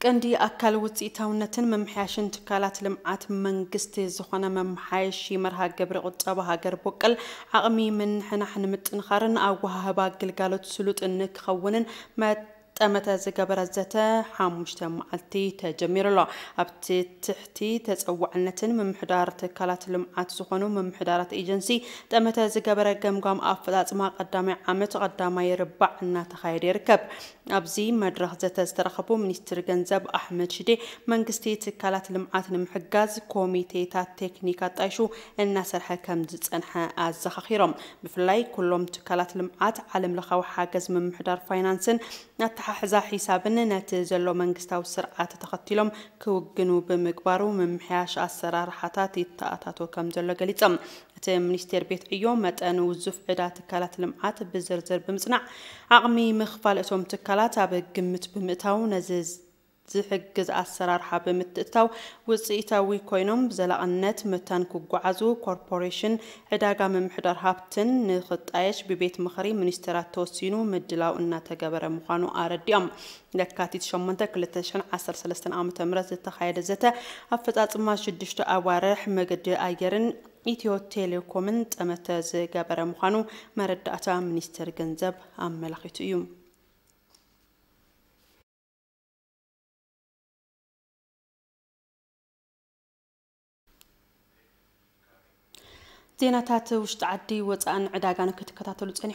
ቀንዲ ኣካል ውፅኢታውነትን ምምሕያሽን ትካላት ልምዓት መንግስቲ ዝኾነ መመሓየሺ መርሃ ግብሪ ቁጠባ ሃገር ቦቀል ዓቕሚ ምንሕናሕ ንምጥንኻርን ኣወሃህባ ግልጋሎት ስሉጥ ንክኸውንን መጠመተ ዝገበረ ዘተ ሓሙሽተ መዓልቲ ተጀሚሩ ኣሎ። ኣብቲ ትሕቲ ተፀዋዕነትን ምምሕዳር ትካላት ልምዓት ዝኾኑ ምምሕዳራት ኤጀንሲ ጠመተ ዝገበረ ገምጋም ኣፈፃፅማ ቀዳማይ ዓመት ቀዳማይ ርባዕ እናተኻየደ ይርከብ። ኣብዚ መድረኽ ዘተ ዝተረኸቡ ሚኒስትር ገንዘብ ኣሕመድ ሽዴ መንግስቲ ትካላት ልምዓት ንምሕጋዝ ኮሚቴታት ቴክኒክ ኣጣይሹ እናሰርሐ ከም ዝፀንሐ ኣዘኻኺሮም። ብፍላይ ኩሎም ትካላት ልምዓት ዓለም ለኻዊ ሓገዝ ምምሕዳር ፋይናንስን ኣተሓሕዛ ሒሳብን ነቲ ዘሎ መንግስታዊ ስርዓት ተኸቲሎም ክውግኑ ብምግባሩ ምምሕያሽ ኣሰራርሓታት ይተኣታቶ ከም ዘሎ ገሊፆም። እቲ ሚኒስቴር ቤት ዕዮ መጠን ውዙፍ ዕዳ ትካላት ልምዓት ብዝርዝር ብምፅናዕ ዓቕሚ ምኽፋል እቶም ትካላት ኣብ ግምት ብምእታው ነዚ ዝሕግዝ ኣሰራርሓ ብምትእትታው ውፅኢታዊ ኮይኖም ብዘላቕነት መታን ክጓዓዙ ኮርፖሬሽን ዕዳጋ ምምሕዳር ሃብትን ንኽጣየሽ ብቤት ምኽሪ ሚኒስትራት ተወሲኑ ምድላው እናተገበረ ምዃኑ ኣረዲኦም። ለካቲት ሸሞንተ ክልተ ሽሕን ዓሰርተ ሰለስተን ዓመተ ምህረት ዝተኻየደ ዘተ ኣፈፃፅማ ሽዱሽተ ኣዋርሕ መገዲ ኣየርን ኢትዮ ቴሌኮምን ጠመተ ዝገበረ ምዃኑ መረዳእታ ሚኒስቴር ገንዘብ ኣመላኺቱ እዩ። ዜናታት ውሽጢ ዓዲ ወፃእን ዕዳጋን ክትከታተሉ ፀኒሑ።